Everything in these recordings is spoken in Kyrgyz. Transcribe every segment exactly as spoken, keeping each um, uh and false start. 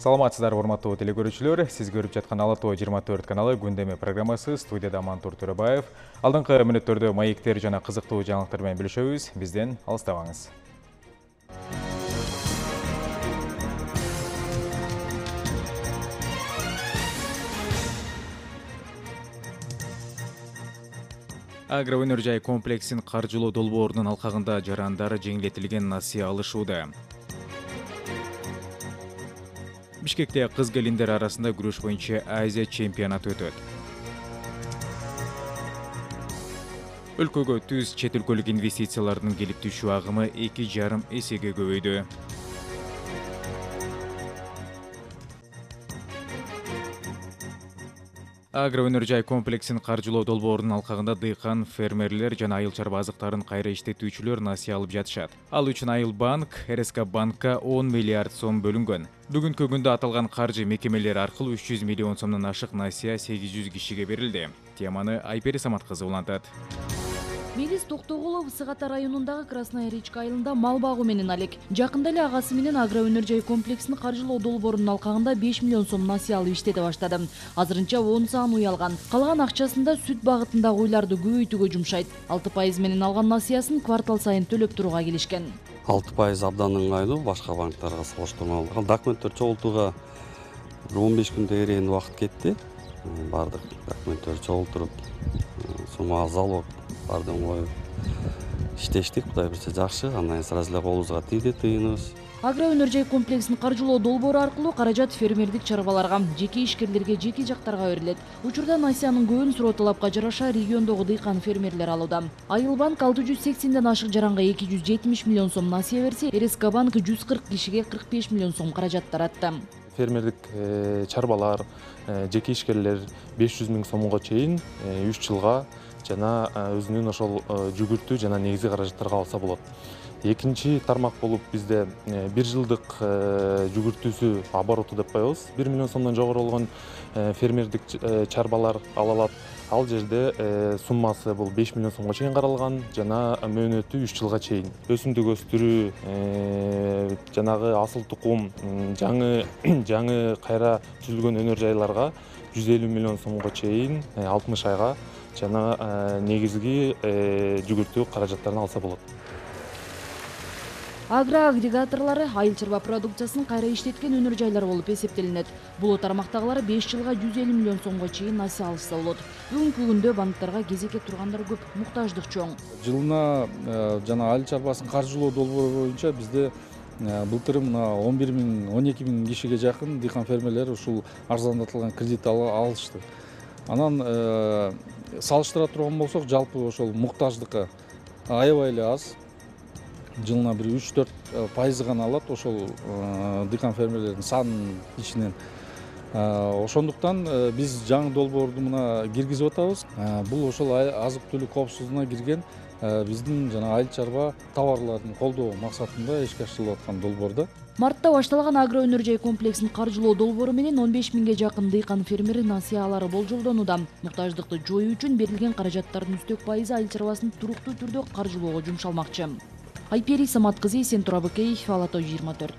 Саламатсыздар, урматтуу телекөрүүчүлөр. Сиз көрүп жаткан Ала Тоо жыйырма төрт каналы күндөмө программасы. Студияда Мантур Төрөбаев. Алдыңкы мүнөттөрдө маектер жана кызыктуу жаңылыктар менен бөлүшөбүз. Бизден алыстабаңыз. Агроөнөр жай комплексин каржылоо долбоорунун алкагында жарандары жеңилдетилген насыя алышууда. Бишкекте кыз келиндер арасында күрөш боюнча Азия чемпионаты өтөт. Өлкөгө түз чет өлкөлүк инвестициялардын келип түшүү агымы эки жарым эсеге көбөйдү. Агроөнөр жай комплексин каржылоо долбоорунун алкагында дыйкан, фермерлер жана айыл чарба азыктарын кайра иштетүүчүлөр насыя алып жатышат. Ал үчүн Айыл банк, эр эс ка банкка он миллиард сом бөлүнгөн. Бүгүнкү күндө аталган каржы мекемелери аркылуу үч жүз миллион сомдон ашык насыя сегиз жүз кишиге берилди. Теманы Айпери Самат кызы улантат. Мелис Токтогулов Ысык Ата районундагы Красная речка айылында мал багуу менен алек. Жакында эле агасы менен агроөнөр жай комплексин каржылоо долбоорунун алкагында беш миллион сом насыя алып иштете баштады. Азырынча он саан уй алган. Калган акчасында сүт багытындагы уйларды көбөйтүүгө жумшайт. алты пайыз менен алган насыясын квартал сайын төлөп турууга келишкен. алты пайыз абдан ыңгайлуу, башка банктарга салыштырмалуу. Документтер чогултууга он беш күндө эрейин убакыт кетти. Бардык документтер чогултуруп, сумма залог бардыгын коюп иштештик. Кудай берсе жакшы, андан сразу эле колубузга тийди тыйыныбыз. Агроөнөр жай комплексин каржылоо долбоору аркылуу каражат фермердик чарбаларга, жеке ишкерлерге, жеке жактарга берилет. Учурда насыянын көбүн суроо талапка жараша региондогу дыйкан фермерлер алууда. Айыл банк алты жүз сексенден ашык жаранга эки жүз жетимиш миллион сом насыя берсе, эр эс ка банк жүз кырк кишиге кырк беш миллион сом каражат таратты. Фермердик чарбалар, жеке ишкерлер беш жүз миң сомго чейин үч жылга жана өзүнүн ошол жүгүртүү жана негизги каражаттарга алса болот. Экинчи тармак болуп бизде бир жылдык жүгүртүүсү обороту деп коебуз. бир миллион сомдон жогору болгон фермердик чарбалар ала алат. Ал жерде суммасы бул беш миллион сомго чейин каралган жана мөөнөтү үч жылга чейин. Өсүмдүк өстүрүү, жанагы асыл тукум, жаңы жаңы кайра түзүлгөн өнөр жайларга жүз элүү миллион сомго чейин алтымыш айга жана негизги жүгүртүү каражаттарын алса болот. Агроагрегаторлары айыл чарба продукциясын кайра иштеткен өнөр жайлар болуп эсептелинет. Бул тармактагылар беш жылга жүз элүү миллион сомго чейин насыя алышса болот. Бүгүнкү күндө банктарга кезекке тургандар көп, муктаждык чоң. Жылына жана айыл чарбасын каржылоо долбоору боюнча бизде былтыр мына он бир миң он эки миң кишиге жакын дыйкан фермерлер ушул арзандатылган кредит алышты. Анан салыштыра турган болсок, жалпы ошол муктаждыкка аябай эле аз. Жылына бир үч төрт пайыз гана алат ошол дыйкан фермерлердин санынын ичинен. Ошондуктан биз жаңы долбоорду мына киргизип атабыз. Бул ошол азык түлүк коопсуздугуна кирген биздин жана айыл чарба товарларын колдоо максатында ишке ашырылып аткан долбоордо. Мартта башталган агроөнөр жай комплексин каржылоо долбоору менен он беш миңге жакын дыйкан фермер насыя алары болжолдонууда. Муктаждыкты жоюу үчүн берилген каражаттардын үстөк пайызы айыл чарбасын туруктуу түрдө каржылоого жумшалмакчы. Айпери Самат кызы, Сен Турабыкеев, Ала Тоо жыйырма төрт.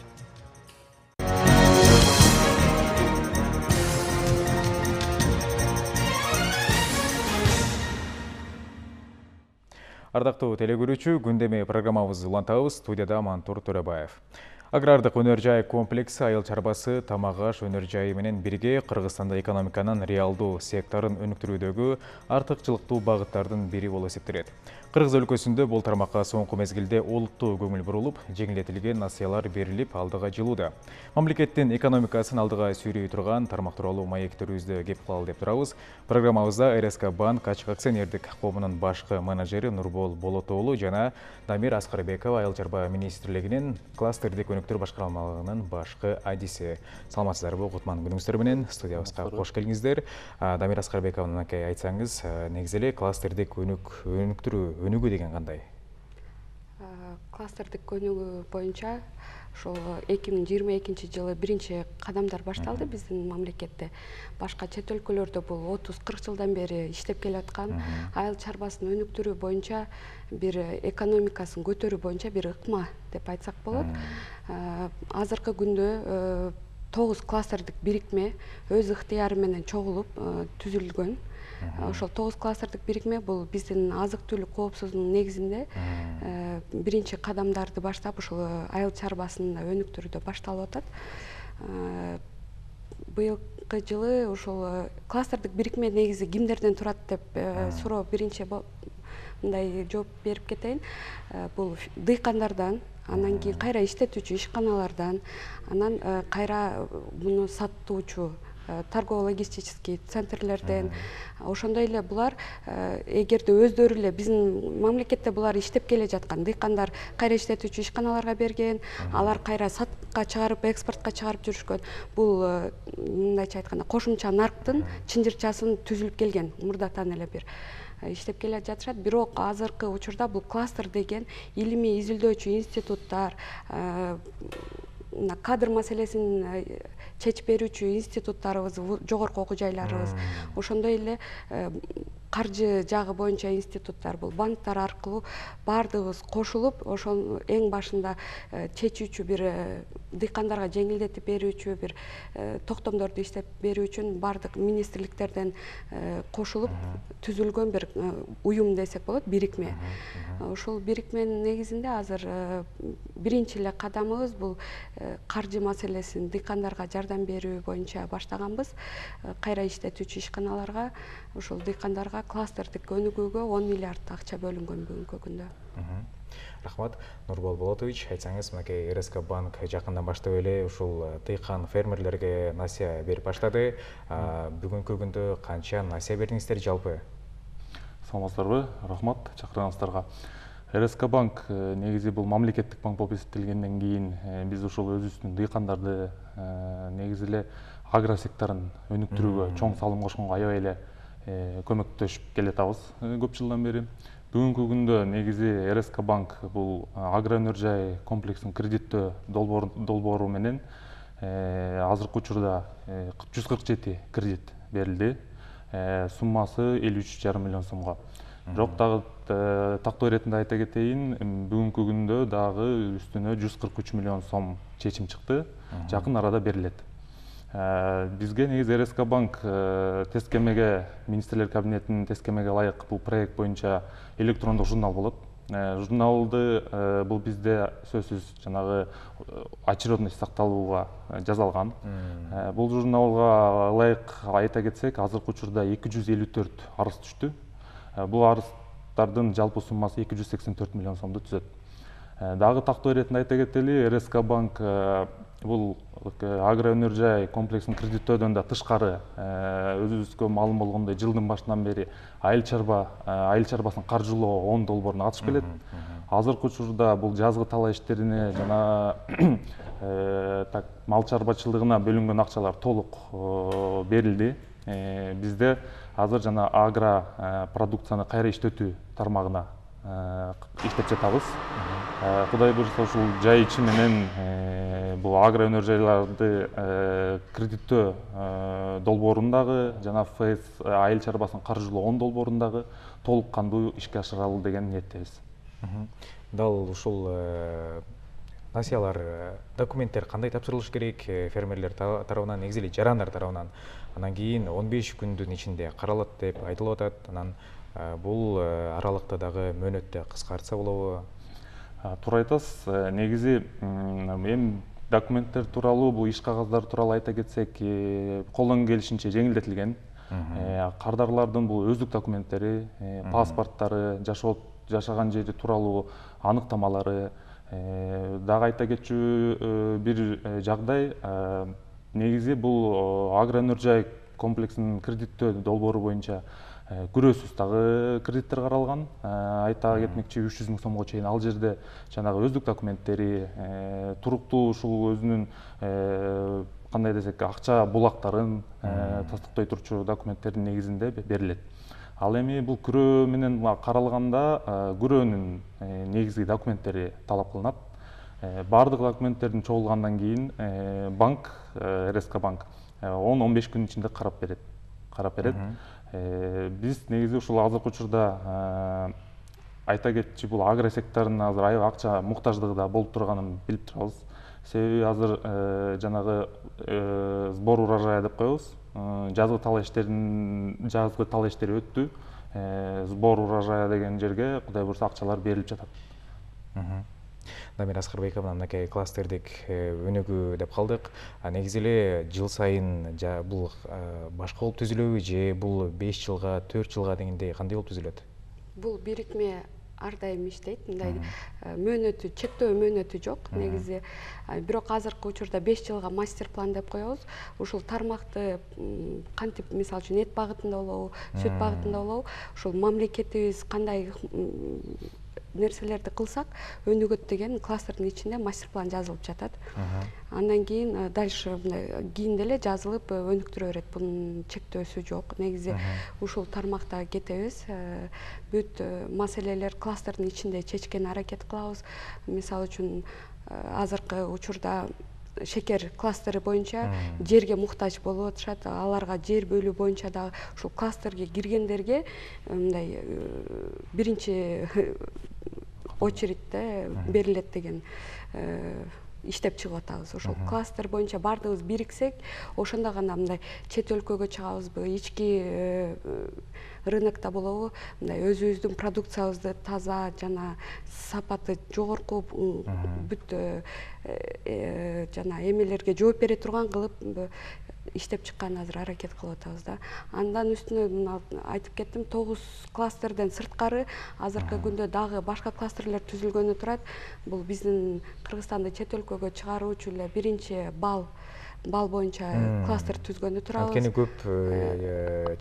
Ардактуу телекөрүүчү, күндөмө программабызды улантабыз. Студияда Мантур Төрөбаев. Агрардык өнөр жай комплекси айыл чарбасы, тамак аш өнөр жайы менен бирге Кыргызстанда экономиканын реалдуу секторун өнүктүрүүдөгү артыкчылыктуу багыттардын бири болуп эсептелет. Кыргыз өлкөсүндө бул тармакка соңку мезгилде олуттуу көңүл бурулуп, жеңилдетилген насыялар берилип алдыга жылууда. Мамлекеттин экономикасын алдыга сүйрөй турган тармак тууралуу маектерибизди кеп кылалы деп турабыз. Программабызда эр эс ка банк ачык акционердик коомунун башкы менеджери Нурбол Болотоолу жана Дамир Аскарбекова айыл чарба министрлигинин кластердик өнүктүрүү башкармалыгынын башкы адиси. Саламатсыздарбы, кутман күнүңүздөр менен студиябызга кош келиңиздер. Дамир Аскарбековдун аке айтсаңыз, негизи эле кластердик өнүктүрүү өнүгүү деген кандай? Кластердик өнүгүү боюнча ошол эки миң жыйырма экинчи жылы биринчи кадамдар башталды биздин мамлекетте. Башка чет өлкөлөрдө бул отуз кырк жылдан бери иштеп келаткан айыл чарбасын өнүктүрүү боюнча бир экономикасын көтөрүү боюнча бир ыкма деп айтсак болот. Азыркы күндө тогуз кластердик бирикме өз ыктыяры менен чогулуп түзүлгөн. Ошол тогуз кластердик бирикме бул биздин азык түлүк коопсуздугунун негизинде биринчи кадамдарды баштап ушул айыл чарбасын өнүктүрүүдө башталып атат. Быйылкы жылы ушул кластердик бирикме негизи кимдерден турат деп суроо биринчи мындай жооп берип кетейин. Бул дыйкандардан, анан кийин кайра иштетүүчү ишканалардан, анан кайра муну сатуучу торгово-логистический центрлерден, ошондой эле булар эгерде өздөрү эле биздин мамлекетте булар иштеп келе жаткан дыйкандар кайра иштетүүчү ишканаларга берген, алар кайра сатыкка чыгарып, экспортко чыгарып жүрүшкөн. Бул мындайча айтканда кошумча нарктын чынжырчасын түзүлүп келген, мурдатан эле бир иштеп келе жатышат. Бирок азыркы учурда бул кластер деген илимий изилдөөчү институттар, кадр маселесин чечип берүүчү институттарыбыз, жогорку окуу жайларыбыз, ошондой эле каржы жагы боюнча институттар, бул банктар аркылуу баардыгыбыз кошулуп, ошол эң башында чечүүчү бир дыйкандарга жеңилдетип берүүчү бир токтомдорду иштеп берүү үчүн баардык министрликтерден кошулуп түзүлгөн бир уюм десек болот, бирикме. Ушул бирикменин негизинде азыр биринчи эле кадамыбыз бул каржы маселесин дыйкандарга жардам берүү боюнча баштаганбыз. Кайра иштетүүчү ишканаларга, ушул дыйкандарга кластердик өнүгүүгө он миллиард акча бөлүнгөн бүгүнкү күндө. Рахмат, Нурбол Болотович, айтсаңыз, мынакей РСК банк жакындан баштап эле ушул дыйкан фермерлерге насыя берип баштады. Бүгүнкү күндө канча насыя бердиңиздер жалпы? Саламатсыздарбы? Рахмат чакырганыңыздарга. РСК банк негизи бул мамлекеттик банк болуп эсептелгенден кийин биз ушул өзүбүздүн дыйкандарды негизи эле агро секторун өнүктүрүүгө чоң салым кошконго аябай эле көмөктөшүп келатабыз көп жылдан бери. Бүгүнкү күндө негизи РСК банк бул агро өнөр жай комплексин кредиттөө долбоору менен азыркы учурда жүз кырк жети кредит берилди. Суммасы элүү үч жарым миллион сомго. Бирок дагы тактоо иретинде айта кетейин, бүгүнкү күндө дагы үстүнө жүз кырк үч миллион сом чечим чыкты. Жакын арада берилет. Бизге негизи РСК банк тескемеге, министрлер кабинетинин тескемеге ылайык бул проект боюнча электрондук журнал болот. Журналды бул бизде сөзсүз жанагы очередность сакталууга жазалган. Бул журналга ылайык айта кетсек, азыркы учурда эки жүз элүү төрт арыз түштү. Бул арыздардын жалпы суммасы эки жүз сексен төрт миллион сомду түзөт. Дагы тактоо иретинде айта кетели, РСК банк бул агро өнөр жай комплексин кредиттөөдөн да тышкары өзүбүзгө маалым болгондой жылдын башынан бери айыл чарба айыл чарбасын каржылоо он долбооруна катышып келет. Азыркы учурда бул жазгы талаа иштерине жана так мал чарбачылыгына бөлүнгөн акчалар толук берилди. Бизде азыр жана агро продукцияны кайра иштетүү тармагына иштеп жатабыз. Кудай буйрса ушул жай ичи менен бул агро өнөр жайларды кредиттөө долбоорундагы жана ФС айыл чарбасын каржылоо он долбоорундагы толук кандуу ишке ашыралы деген ниеттебиз. Дал ушул насыялар, документтер кандай тапшырылыш керек фермерлер тарабынан, негизи эле жарандар тарабынан? Анан кийин он беш күндүн ичинде каралат деп айтылып атат. Анан бул аралыкта дагы мөөнөттү кыскартса болобу? Туура айтасыз. Негизи эми документтер тууралуу, бул иш кагаздары тууралуу айта кетсек, колдон келишинче жеңилдетилген. Кардарлардын бул өздүк документтери, паспорттары, жашаган жери тууралуу аныктамалары. Дагы айта кетчү бир жагдай, негизи бул агро өнөр жай комплексинин кредиттөө долбоору боюнча күрөөсүз дагы кредиттер каралган. Айта кетмекчи, үч жүз миң сомго чейин ал жерде жанагы өздүк документтери, туруктуу ушул өзүнүн кандай десек акча булактарын тастыктой турчу документтердин негизинде берилет. Ал эми бул күрөө менен каралганда күрөөнүн негизги документтери талап кылынат. Бардык документтердин чогулгандан кийин банк, РСК банк он он беш күн ичинде карап берет. Карап берет. Биз негизи ушул азыркы учурда айта кетчи, бул агро секторунун азыр аябай акча муктаждыгы да болуп турганын билип турабыз. Себеби азыр жанагы сбор урожая деп коебуз. Жазгы тал иштерин жазгы тал иштери өттү. Сбор урожая деген жерге Кудай буйрса акчалар берилип жатат. Дамир Аскарбеков мынакей кластердик өнүгүү деп калдык. Негизи эле жыл сайын бул башка болуп түзүлөбү же бул беш жылга, төрт жылга дегендей кандай болуп түзүлөт? Бул бирикме ар дайым иштейт, мындай мөөнөтү, чектөө мөөнөтү жок. Негизи бирок азыркы учурда беш жылга мастер план деп коебуз. Ушул тармакты кантип, мисалы үчүн эт багытында болобу, сүт багытында болобу, ушул мамлекетибиз кандай нерселерди кылсак өнүгөт деген кластердин ичинде мастер план жазылып жатат. Андан кийин дальше мындай кийинде эле жазылып өнүктүрө берет. Бунун чектөөсү жок. Негизи ушул тармакта кетебиз. Бүт маселелер кластердин ичинде чечкенге аракет кылабыз. Мисалы үчүн азыркы учурда шекер кластери боюнча жерге муктаж болуп атышат. Аларга жер бөлүү боюнча дагы ушул кластерге киргендерге мындай биринчи очередьте берилет деген иштеп чыгып атабыз. Ошол кластер боюнча баардыгыбыз бириксек, ошондо гана мындай чет өлкөгө чыгабызбы, ички рынокто болобу, мындай өзүбүздүн продукциябызды таза жана сапаты жогорку бүт жана эмелерге жооп бере турган кылып иштеп чыккан азыр аракет кылып атабыз да. Андан үстүнө айтып кеттим, тогуз кластерден сырткары азыркы күндө дагы башка кластерлер түзүлгөнү турат. Бул биздин Кыргызстанды чет өлкөгө чыгаруучу эле биринчи бал бал боюнча кластер түзгөнү турабыз. Анткени көп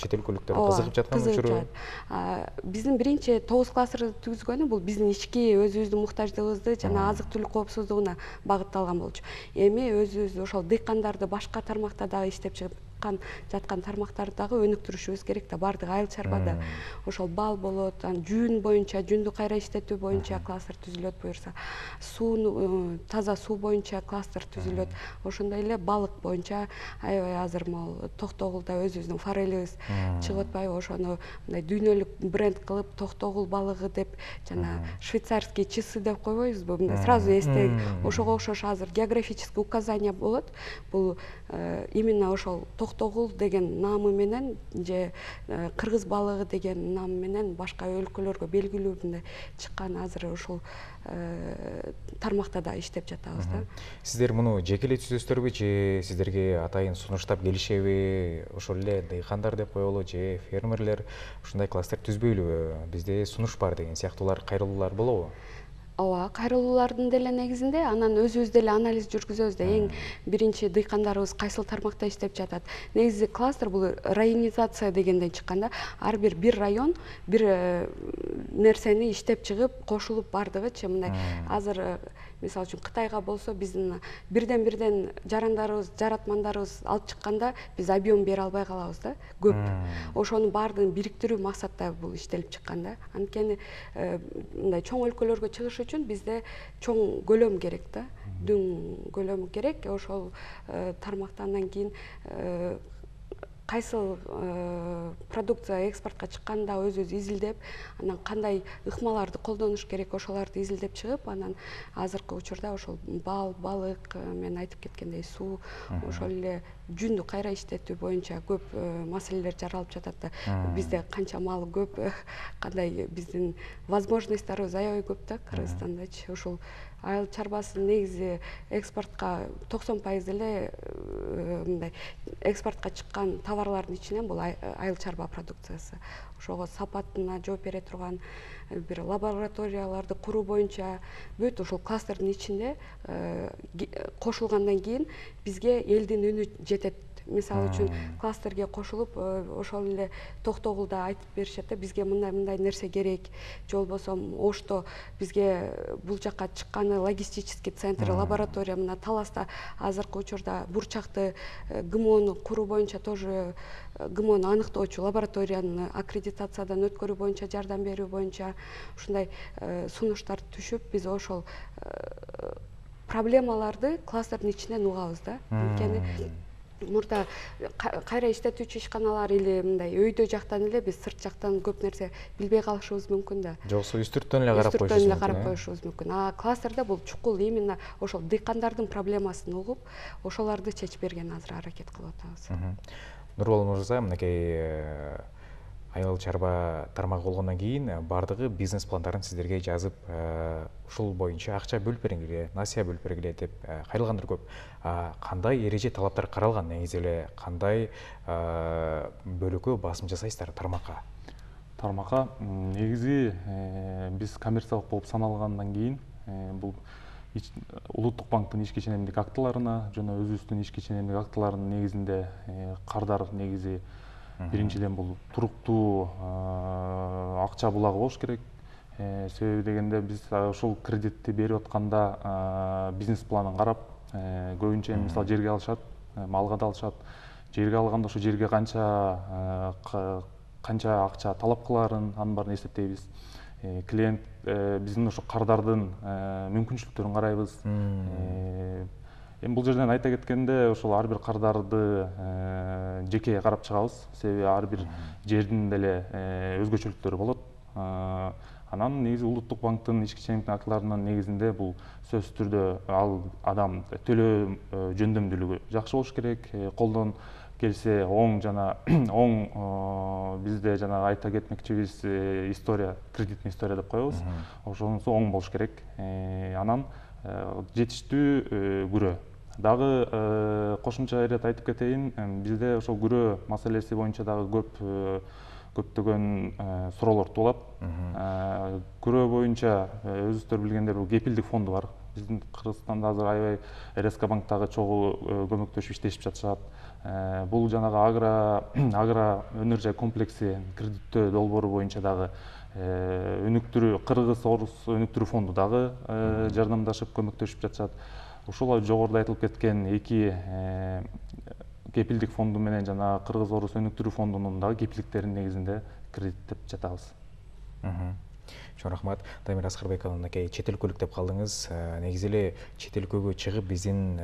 чет өлкөлүктөр кызыгып жаткан учуру. Биздин биринчи тогуз кластерди түзгөнү бул биздин ички өзүбүздүн муктаждыгыбызды жана азык түлүк коопсуздугуна багытталган болчу. Эми өзүбүз ошол дыйкандарды башка тармакта дагы иштеп чыгып жаткан тармактарды дагы өнүктүрүшүбүз керек да. Баардык айыл чарбада ошол бал болот, жүн боюнча, жүндү кайра иштетүү боюнча кластер түзүлөт буюрса, суу, таза суу боюнча кластер түзүлөт. Ошондой эле балык боюнча аябай азыр могу Токтогулда өзүбүздүн форелибиз чыгып атпайбы, ошону мындай дүйнөлүк бренд кылып Токтогул балыгы деп жана швейцарский часы деп койбойбузбу, мындай сразу эсте ошого окшош азыр географический указание болот. Бул именно ошол Токтогул деген намы менен же кыргыз балыгы деген нам менен башка өлкөлөргө белгилүү мындай чыккан азыр ушул тармакта да иштеп жатабыз да. Сиздер муну жеке эле түзөсүздөрбү же сиздерге атайын сунуштап келишеби? Ошол эле дыйкандар деп коелу же фермерлер ушундай кластер түзбөйлүбү? Бизде сунуш бар деген сыяктуулар, кайрылуулар болобу? Ооба, кайрылуулардын деле негизинде анан өзүбүз деле анализ жүргүзөбүз да. Эң биринчи дыйкандарыбыз кайсыл тармакта иштеп жатат. Негизи кластер бул районизация дегенден чыккан да. Ар бир бир район бир нерсени иштеп чыгып, кошулуп бардыгычы мындай азыр мисалы үчүн Кытайга болсо биздин бирден бирден жарандарыбыз, жаратмандарыбыз алып чыкканда биз объем бере албай калабыз да, көп. Ошонун баардыгын бириктирүү максатта бул иштелип чыккан да. Анткени мындай чоң өлкөлөргө чыгыш үчүн бизде чоң көлөм керек да, дүң көлөм керек. Ошол тармактан кийин кайсыл продукция экспортко чыкканда өзүбүз изилдеп, анан кандай ыкмаларды колдонуш керек, ошолорду изилдеп чыгып, анан азыркы учурда ошол бал, балык, мен айтып кеткендей суу, ошол эле жүндү кайра иштетүү боюнча көп маселелер жаралып жатат да. Бизде канча мал көп, кандай биздин возможностьторубуз аябай көп да Кыргызстандачы. Ушул айыл чарбасын негизи экспортко токсон пайыз эле мындай экспортко чыккан товарлардын ичинен бул айыл чарба продукциясы. Ошого сапатына жооп бере турган бир лабораторияларды куруу боюнча бүт ушул кластердин ичинде кошулгандан кийин бизге элдин үнү жетет. Мисалы үчүн кластерге кошулуп ошол эле Токтогулда айтып беришет да, бизге мындай мындай нерсе керек, же болбосо Ошто бизге бул жака чыкканы логистический центр, лаборатория, мына Таласта азыркы учурда бурчакты ГМОну куруу боюнча тоже ГМОну аныктоочу лабораторияны аккредитациядан өткөрүү боюнча, жардам берүү боюнча ушундай сунуштар түшүп, биз ошол проблемаларды кластердин ичинен угабыз да. Анткени мурда кайра иштетүүчү ишканалар или мындай өйдө жактан эле биз сырт жактан көп нерсе билбей калышыбыз мүмкүн да. Жоксо үстүрттөн эле карап коюшубуз мүмкүн. Үстүрттөн эле карап коюшубуз мүмкүн. А кластерде бул чукул именно ошол дыйкандардын проблемасын угуп, ошолорду чечип берген азыр аракет кылып атабыз. Нурбол мырза, мынакей айыл чарба тармагы болгондон кийин бардыгы бизнес пландарын сиздерге жазып, ушул боюнча акча бөлүп бериңиле, насыя бөлүп бергиле деп кайрылгандыр көп. Кандай эреже талаптар каралган, негизи эле кандай бөлүккө басым жасайсыздар тармакка? Тармакка негизи биз коммерциялык болуп саналгандан кийин бул Улуттук банктын ишке ченемдик актыларына жана өзүбүздүн ишке ченемдик актыларынын негизинде кардар негизи биринчиден бул туруктуу акча булагы болуш керек. Себеби дегенде биз ошол кредитти берип атканда бизнес планын карап, көбүнчө мисалы жерге алышат, малга да алышат. Жерге алганда ошо жерге канча канча акча талап кылаарын анын баарын эсептейбиз. Клиент биздин ошо кардардын мүмкүнчүлүктөрүн карайбыз. Эми бул жерден айта кеткенде ошол ар бир кардарды жеке карап чыгабыз. Себеби ар бир жердин деле өзгөчөлүктөрү болот. Анан негизи Улуттук банктын ишке ченемдик актыларынын негизинде бул сөзсүз түрдө ал адам төлөө жөндөмдүүлүгү жакшы болуш керек. Колдон келсе оң жана оң бизде жана айта кетмекчибиз история, кредитный история деп коебуз. Ошонусу оң болуш керек. Анан жетиштүү күрөө. Дагы кошумча ирет айтып кетейин, бизде ошол күрөө маселеси боюнча дагы көп көптөгөн суроолор туулат. Күрөө боюнча өзүңүздөр билгендер бул кепилдик фонду бар. Биздин Кыргызстанда азыр аябай эр эс ка банктагы чогуу көмөктөшүп иштешип жатышат. Бул жанагы агро агро өнөр жай комплекси кредиттөө долбоору боюнча дагы өнүктүрүү Кыргыз Орус өнүктүрүү фонду дагы жардамдашып көмөктөшүп жатышат. Ушул жогоруда айтылып кеткен эки кепилдик фонду менен жана Кыргыз Орус өнүктүрүү фондунун дагы кепилдиктеринин негизинде кредиттеп жатабыз. Чоң рахмат. Дамир Аскарбековна, мынакей чет өлкөлүк деп калдыңыз. Негизи эле чет өлкөгө чыгып биздин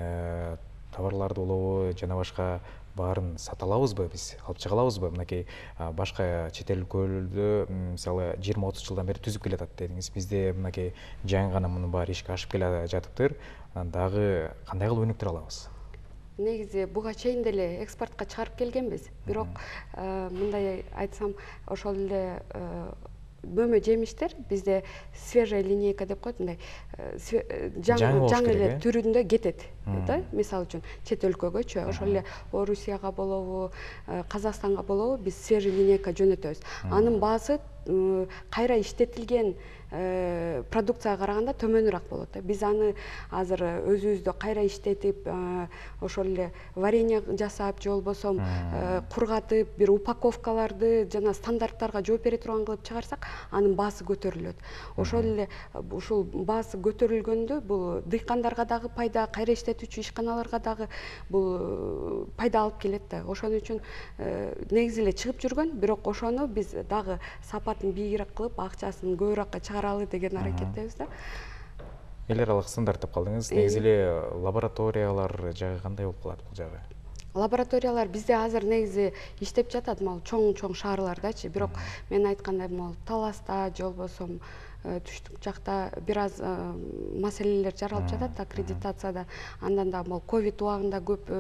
товарларды болобу жана башка баарын сата алабызбы, биз алып чыга алабызбы? Мынакей башка чет өлкөлөрдө мисалы жыйырма отуз жылдан бери түзүп келатат дедиңиз. Бизде мынакей жаңы гана мунун баары ишке ашып келе жатыптыр. Анан дагы кандай кылып өнүктүрө алабыз? Негизи буга чейин деле экспортко чыгарып келгенбиз. Бирок мындай айтсам, ошол эле бөмө жемиштер бизде свежая линейка деп коет, мындай жаңы эле түрүндө кетет да. Мисалы үчүн чет өлкөгөчү, ошол эле Орусияга болобу, Казакстанга болобу биз свежий линейка жөнөтөбүз. Анын баасы кайра иштетилген продукцияга караганда төмөнүрөөк болот да. Биз аны азыр өзүбүздө кайра иштетип, ошол эле варенье жасап, же болбосо кургатып, бир упаковкаларды жана стандарттарга жооп бере турган кылып чыгарсак, анын баасы көтөрүлөт. Ошол эле ушул баасы көтөрүлгөндө бул дыйкандарга дагы пайда, кайра иштетүүчү ишканаларга дагы бул пайда алып келет да. Ошон үчүн негизи эле чыгып жүргөн, бирок ошону биз дагы сапатын бийигирээк кылып, акчасын көбүрөөккө чыгаралы деген аракеттебиз да. Эл аралык стандарт деп калдыңыз. Негизи эле лабораториялар жагы кандай болуп калат бул жагы? Лабораториялар бизде азыр негизи иштеп жатат, могу чоң-чоң шаарлардачы. Бирок мен айткандай, могу Таласта же болбосо түштүк жакта бир аз маселелер жаралып жатат аккредитацияда. Андан да могу ковид убагында көп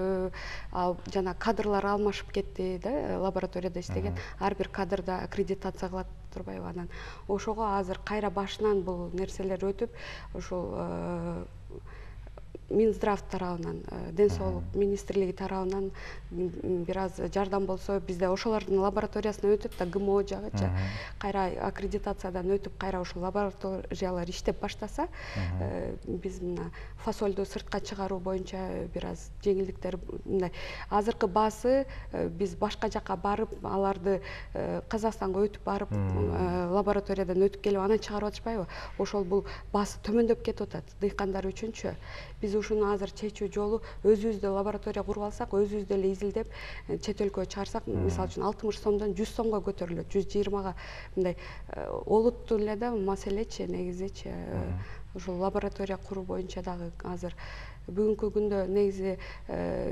жана кадрлар алмашып кетти да, лабораторияда иштеген. Ар бир кадрда аккредитация кылат турбайбы? Анан ошого азыр кайра башынан бул нерселер өтүп, ошол Минздрав тарабынан, Ден соолук министрлиги тарабынан бир аз жардам болсо, бизде ошолордун лабораториясына өтүп да, ГМО жагычы кайра аккредитациядан өтүп, кайра ошол лабораториялар иштеп баштаса, биз мына фасолду сыртка чыгаруу боюнча бир аз жеңилдиктер, мындай азыркы баасы биз башка жака барып, аларды Казакстанга өтүп барып, лабораториядан өтүп келип анан чыгарып атышпайбы? Ошол бул баасы төмөндөп кетип атат дыйкандар үчүнчү. Биз ушуну азыр чечүү жолу өзүбүздө лаборатория куруп алсак, өзүбүздө эле изилдеп чет өлкөгө чыгарсак, мисалы үчүн алтымыш сомдон жүз сомго көтөрүлөт, жүз жыйырмага. Мындай олуттуу эле да маселечи, негизичи. ушул лаборатория куруу боюнча дагы азыр бүгүнкү күндө негизи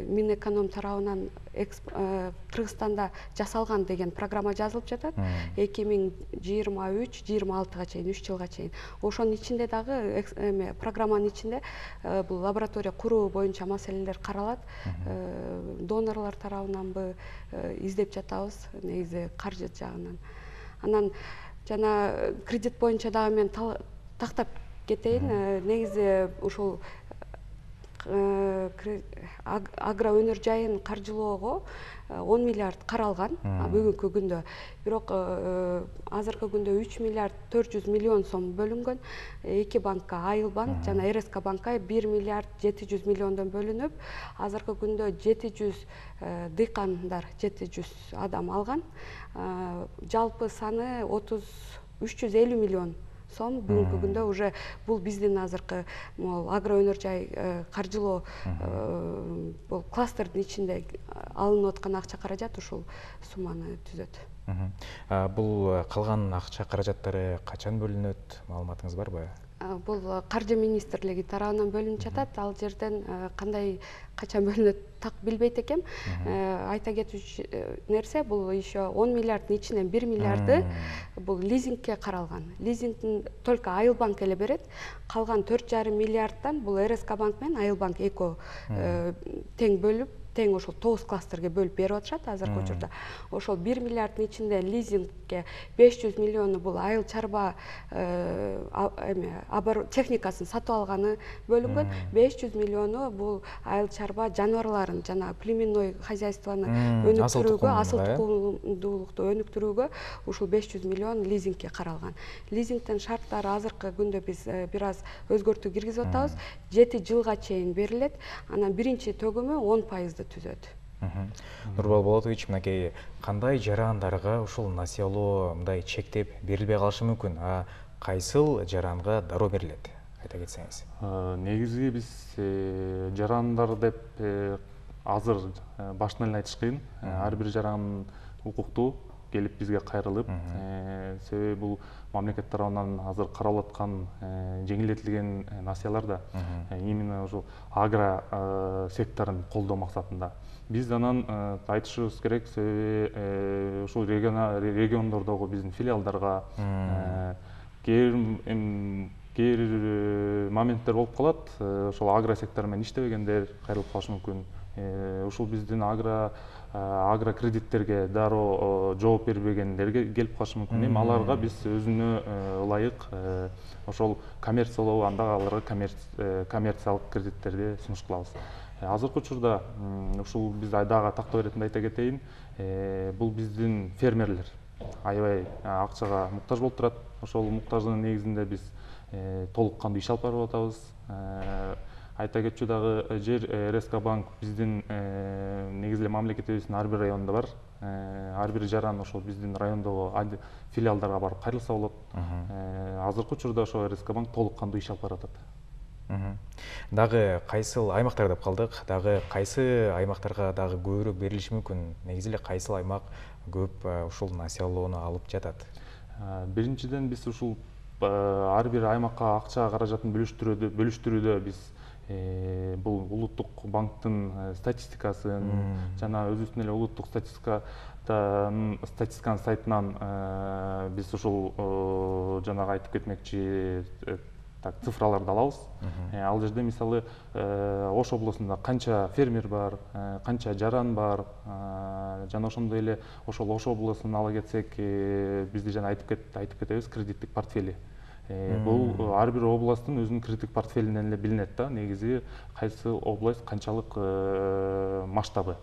Минэконом тарабынан Кыргызстанда жасалган деген программа жазылып жатат. эки миң жыйырма үч жыйырма алтыга чейин, үч жылга чейин. Ошонун ичинде дагы эме программанын ичинде бул лаборатория куруу боюнча маселелер каралат. Донорлор тарабынанбы издеп жатабыз, негизи каржы жагынан. Анан жана кредит боюнча дагы мен тактап кетейин. Негизи ушул агро өнөр жайын каржылоого он миллиард каралган бүгүнкү күндө. Бирок азыркы күндө үч миллиард төрт жүз миллион сом бөлүнгөн. Эки банкка, Айыл банк жана эр эс ка банкка бир миллиард жети жүз миллиондон бөлүнүп, азыркы күндө жети жүз дыйкандар, жети жүз адам алган. Жалпы саны отуз үч жүз элүү миллион сом бүгүнкү күндө уже бул биздин азыркы агро өнөр жай каржылоо бул кластердин ичинде алынып аткан акча каражат ушул сумманы түзөт. Бул калган акча каражаттары качан бөлүнөт, маалыматыңыз барбы? Бул каржы министрлиги тарабынан бөлүнүп жатат. Ал жерден кандай качан бөлүнөт так билбейт экем. Айта кетүүчү нерсе, бул еще он миллиарддын ичинен бир миллиарды бул лизингке каралган. Лизингдин только Айыл банк эле берет. Калган төрт жарым миллиарддан бул эр эс ка банк менен Айыл банк экөө тең бөлүп, тең ошол тогуз кластерге бөлүп берип атышат азыркы учурда. Ошол бир миллиарддын ичинде лизингке беш жүз миллиону бул айыл чарба эме техникасын сатып алганы бөлүнгөн. беш жүз миллиону бул айыл чарба жаныбарларын жана племенной хозяйствону өнүктүрүүгө, асыл тукумдуулукту өнүктүрүүгө ушул беш жүз миллион лизингке каралган. Лизингдин шарттары азыркы күндө биз бир аз өзгөртүү киргизип атабыз. жети жылга чейин берилет. Анан биринчи төгүмү он пайызды түзөт. Нурбол Болотович, мынакей кандай жарандарга ушул насыялоо мындай чектеп берилбей калышы мүмкүн? А кайсыл жаранга дароо берилет? Айта кетсеңиз. Негизи биз жарандар деп азыр баштан эле айтыш кыйын. Ар бир жаран укуктуу келип бизге кайрылып, себеби бул мамлекет тарабынан азыр каралып аткан жеңилдетилген насыялар да именно ошол агро секторун колдоо максатында. Биз анан айтышыбыз керек, себеби ушул региондордогу биздин филиалдарга кээ бир моменттер болуп калат. Ошол агро сектор менен иштебегендер кайрылып калышы мүмкүн. Ушул биздин агро агро кредиттерге дароо жооп бербегендерге келип калышы мүмкүн. Эми аларга биз өзүнө ылайык ошол коммерциялоо, анда аларга коммерциялык кредиттерди сунуш кылабыз. Азыркы учурда ушул биз дагы тактоо иретинде айта кетейин, бул биздин фермерлер аябай акчага муктаж болуп турат. Ошол муктаждын негизинде биз толук кандуу иш алып барып атабыз. Айта кетчү дагы жер эр эс ка банк биздин негизи эле мамлекетибиздин ар бир районунда бар. Ар бир жаран ошол биздин райондогу филиалдарга барып кайрылса болот. Азыркы учурда ошол эр эс ка банк толук кандуу иш алып баратат. Дагы кайсыл аймактар деп калдык, дагы кайсы аймактарга дагы көбүрөөк берилиши мүмкүн? Негизи эле кайсыл аймак көп ушул насыялоону алып жатат? Биринчиден биз ушул ар бир аймакка акча каражатын бөлүштүрүүдө бөлүштүрүүдө биз бул улуттук банктын статистикасын жана өзүбүздүн эле улуттук статистиканын статистиканын сайтынан биз ушул жанагы айтып кетмекчи так цифраларды алабыз. Ал жерде мисалы Ош облусунда канча фермер бар, канча жаран бар, жана ошондой эле ошол Ош облусун ала кетсек, бизде жана айтып кет айтып кетебиз кредиттик портфели. Бул ар бир областтын өзүнүн кредиттик портфелинен эле билинет да, негизи кайсы область канчалык масштабы.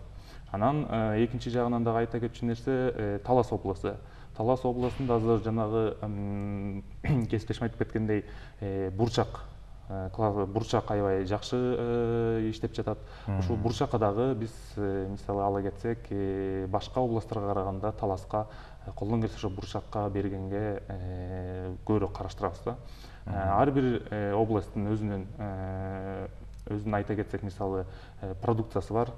Анан экинчи жагынан дагы айта кетчү нерсе Талас облусу. Талас областында азыр жанагы кесиптешим айтып кеткендей бурчак бурчак аябай жакшы иштеп жатат. Ушул бурчакка дагы биз мисалы ала кетсек, башка областтарга караганда Таласка колдон келсе ошо бурчакка бергенге көбүрөөк караштырабыз да. Ар бир областтын өзүнүн өзүн айта кетсек, мисалы продукциясы бар.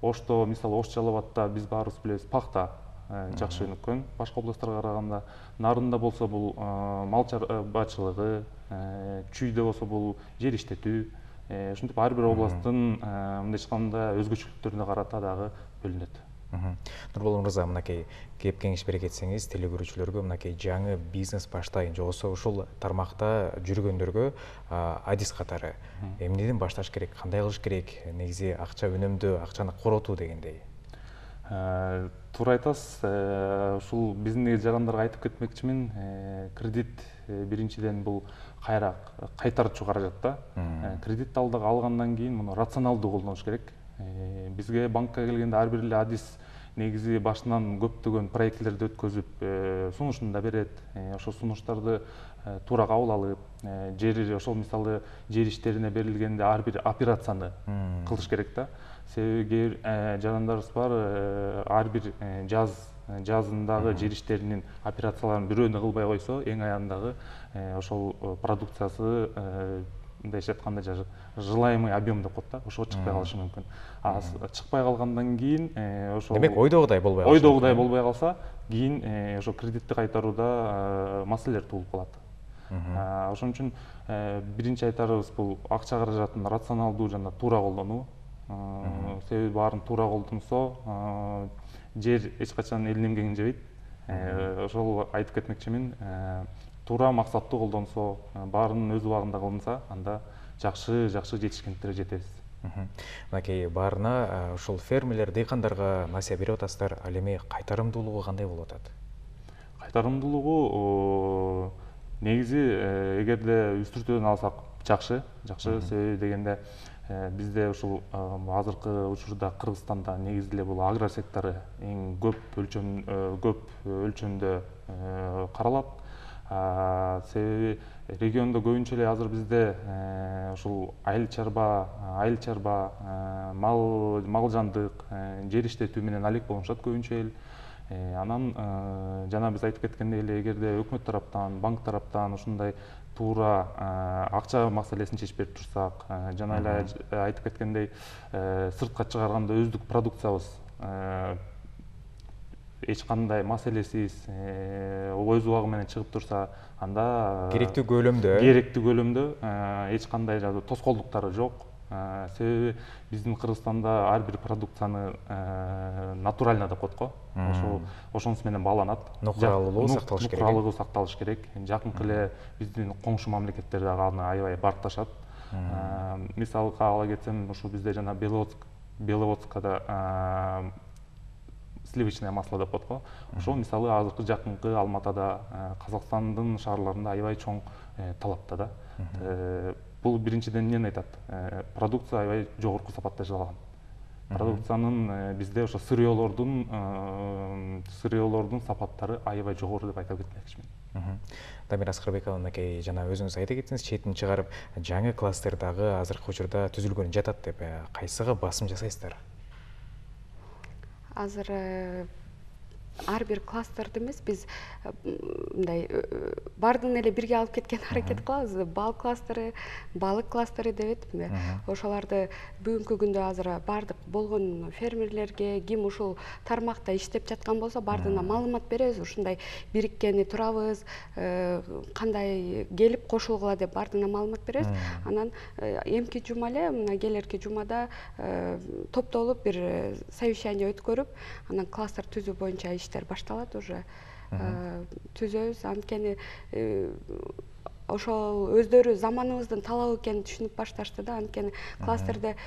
Ошто мисалы Ош Жалал Абадта биз баарыбыз билебиз, пахта жакшы өнүккөн башка областтарга караганда. Нарында болсо бул мал чарбачылыгы, чүйдө болсо бул жер иштетүү. Ушинтип ар бир областтын мындайча айтканда өзгөчөлүктөрүнө карата дагы бөлүнөт. Нурбол мырза, мынакей кеп кеңеш бере кетсеңиз теле көрүүчүлөргө мынакей жаңы бизнес баштайын же болбосо ушул тармакта жүргөндөргө адис катары эмнеден башташ керек, кандай кылыш керек, негизи акча үнөмдөө, акчаны коротуу дегендей. Туура айтасыз. Ушул биздин негизи жагандарга айтып кетмекчимин. Кредит биринчиден бул кайра кайтарчу каражат да. Кредит алгандан кийин муну рационалдуу колдонуш керек. Бизге банкка келгенде ар бир эле адис негизи башынан көптөгөн проектлерди өткөзүп, сунушун да берет. Ошол сунуштарды туура кабыл алып, жер ошол мисалы жер иштерине берилгенде ар бир операцияны кылыш керек да. Себеби жандарыбыз бар, ар бир жаз жазындагы жер иштеринин операцияларын бирөөнү кылбай койсо, эң аягындагы ошол продукциясы мындайча айтканда желаемый объем деп коет да, ошого чыкпай калышы мүмкүн. А чыкпай калгандан кийин ошол демек ойдогудай болбой калса, ойдогудай болбой калса, кийин ошо кредитти кайтарууда маселелер туулуп калат. Ошон үчүн биринчи айтарыбыз бул акча каражатын рационалдуу жана туура колдонуу. Себеби баарын туура колдонсо, жер эч качан элин эмгегин жебейт. Ошол айтып кетмекчимин. Туура максаттуу колдонсо, баарын өз убагында кылынса, анда жакшы-жакшы жетишкендиктерге жетебиз. Мынакей баарына ушул фермерлер, дыйкандарга насыя берип атасыздар. Ал эми кайтарымдуулугу кандай болуп атат? Кайтарымдуулугу негизи эгерде үстүртөдөн алсак жакшы, жакшы. Себеби дегенде бизде ушул азыркы учурда Кыргызстанда негизи эле бул агро сектору эң көп өлчөм көп өлчөмдө каралат. Себеби региондо көбүнчө эле азыр бизде ушул айыл чарба, айыл чарба, мал мал жандык, жер иштетүү менен алек болушат көбүнчө эл. Анан жана биз айтып кеткендей эле, эгерде өкмөт тараптан, банк тараптан ушундай туура акча маселесин чечип берип турсак, жана эле айтып кеткендей сыртка чыгарганда өздүк продукциябыз эч кандай маселесиз өз убагы менен чыгып турса, анда керектүү көлөмдө керектүү көлөмдө эч кандай тоскоолдуктары жок. Себеби биздин Кыргызстанда ар бир продукцияны натурально деп коет го. Ошол ошонусу менен бааланат. Нукуралуулугу сакталыш керек. Нукуралуулугу сакталыш керек. Жакынкы эле биздин коңшу мамлекеттер дагы аны аябай баркташат. Мисалга ала кетсем, ушул бизде жана Беловодскада сливочное масло деп коет го. Ошол мисалы азыркы жакынкы Алматада, Казакстандын шаарларында аябай чоң талапта да. Бул биринчиден эмнени айтат? Продукция аябай жогорку сапатта жасалган. Продукциянын бизде ошо сырьёолордун сырьёолордун сапаттары аябай жогору деп айтып кетмекчимин. Дамир Аскарбекова, мынакей жана өзүңүз айта кеттиңиз, четин чыгарып, жаңы кластердагы азыркы учурда түзүлгөн жатат деп, кайсыга басым жасайсыздар? Азыр ар бир кластерди эмес, биз мындай баардыгын эле бирге алып кеткен аракет кылабыз. Бал кластери, балык кластери деп этпи? Ошоларды бүгүнкү күндө азыр баардык болгон фермерлерге, ким ушул тармакта иштеп жаткан болсо, баардыгына маалымат беребиз. Ушундай бириккени турабыз, кандай келип кошулгула деп баардыгына маалымат беребиз. Анан эмки жума эле, мына келерки жумада топтолуп бир совещание өткөрүп, анан кластер түзүү боюнча иштер башталат уже. Түзөбүз, анткени ошол өздөрү заманыбыздын талабы экенин түшүнүп башташты да. Анткени кластерде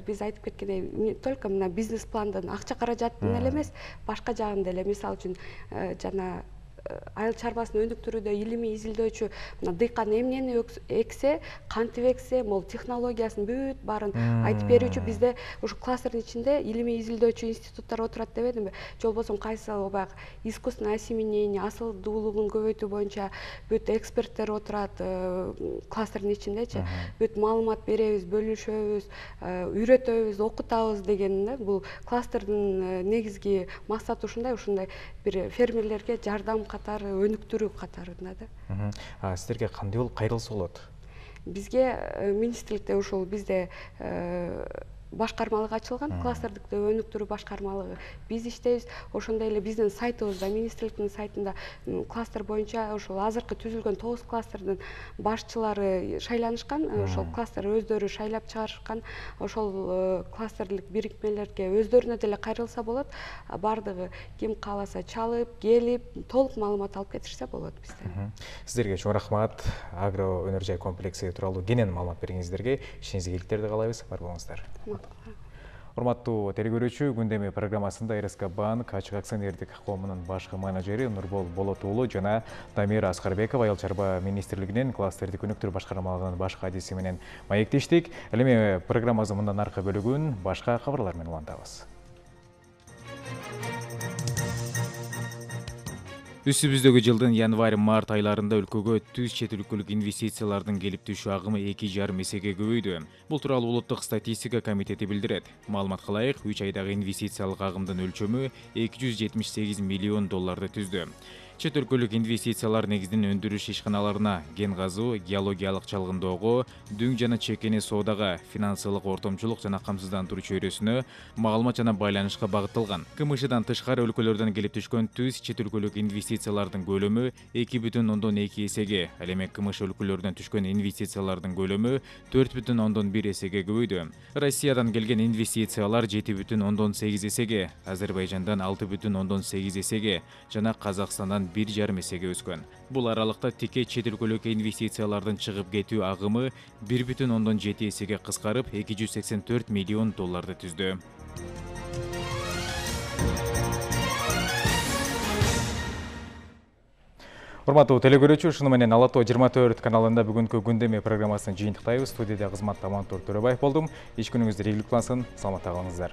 биз айтып кеткендей, не только мына бизнес пландын акча каражатын эле эмес, башка жагында эле, мисалы үчүн жана айыл чарбасын өнүктүрүүдө илимий изилдөөчү мына дыйкан эмнени эксе, кантип эксе, могул технологиясын бүт баарын айтып берүүчү бизде ушу кластердин ичинде илимий изилдөөчү институттар отурат дебедимби? Же болбосо кайсы баягы искусственное осеменение, асылдуулугун көбөйтүү боюнча бүт эксперттер отурат кластердин ичиндечи. Бүт маалымат беребиз, бөлүшөбүз, үйрөтөбүз, окутабыз деген. Бул кластердин негизги максаты ушундай, ушундай бир фермерлерге жардам катары, өнүктүрүү катарында да. Сиздерге кандай болуп кайрылса болот? Бизге министрликте ушул бизде башкармалык ачылган, кластердик өнүктүрүү башкармалыгы. Биз иштейбиз. Ошондой эле биздин сайтыбызда, министрликтин сайтында кластер боюнча ошол азыркы түзүлгөн тогуз кластердин башчылары шайланышкан. Ошол кластер өздөрү шайлап чыгарышкан. Ошол кластерлик бирикмелерге өздөрүнө деле кайрылса болот. Бардыгы ким кааласа чалып, келип, толук маалымат алып кетишсе болот бизден. Сиздерге чоң рахмат. Агро өнөр жай комплекси тууралуу кенен маалымат бергениңиздерге ишиңизге ийгиликтерди каалайбыз. Бар болуңуздар. Урматтуу телекөрүүчү, күндөмү программасында эр эс ка банк ачык акционердик коомунун башкы менеджери Нурбол Болот уулу жана Дамира Аскарбекова Айыл чарба министрлигинин кластердик өнүктүрүү башкармалыгынын баш кадиси менен маектештик. Ал эми программабыздын мындан аркы бөлүгүн башка кабарлар менен улантабыз. Үстүбүздөгү жылдын январь-март айларында өлкөгө түз чет өлкөлүк инвестициялардын келип түшүү агымы эки жарым эсеге көбөйдү. Бул тууралуу Улуттук статистика комитети билдирет. Маалымат кылайык, үч айдагы инвестициялык агымдын өлчөмү эки жүз жетимиш сегиз миллион долларды түздү. Чет өлкөлүк инвестициялар негизинен өндүрүш ишканаларына, кен казуу, геологиялык чалгындоого, дүң жана чекени соодага, финансылык ортомчулук жана камсыздандыруу чөйрөсүнө, маалымат жана байланышка багытталган. КМШдан тышкары өлкөлөрдөн келип түшкөн түз чет өлкөлүк инвестициялардын көлөмү эки бүтүн ондон эки эсеге, ал эми КМШ өлкөлөрдөн түшкөн инвестициялардын көлөмү төрт бүтүн ондон бир эсеге көбөйдү. Россиядан келген инвестициялар жети бүтүн ондон сегиз эсеге, Азербайжандан алты бүтүн ондон сегиз эсеге жана Казакстандан бир жарым эсеге өскөн. Бул аралыкта тике чет өлкөлүк инвестициялардын чыгып кетүү агымы бир бүтүн ондон жети эсеге кыскарып, эки жүз сексен төрт миллион долларды түздү. Урматтуу телекөрүүчү, ушуну менен Ала Тоо жыйырма төрт каналында бүгүнкү күндөмү программасын жыйынтыктайбыз. Студияда кызматта Мантур Төрөбаев болдум. Иш күнүңүздөр ийгиликтүү болсун. Саламатта калыңыздар.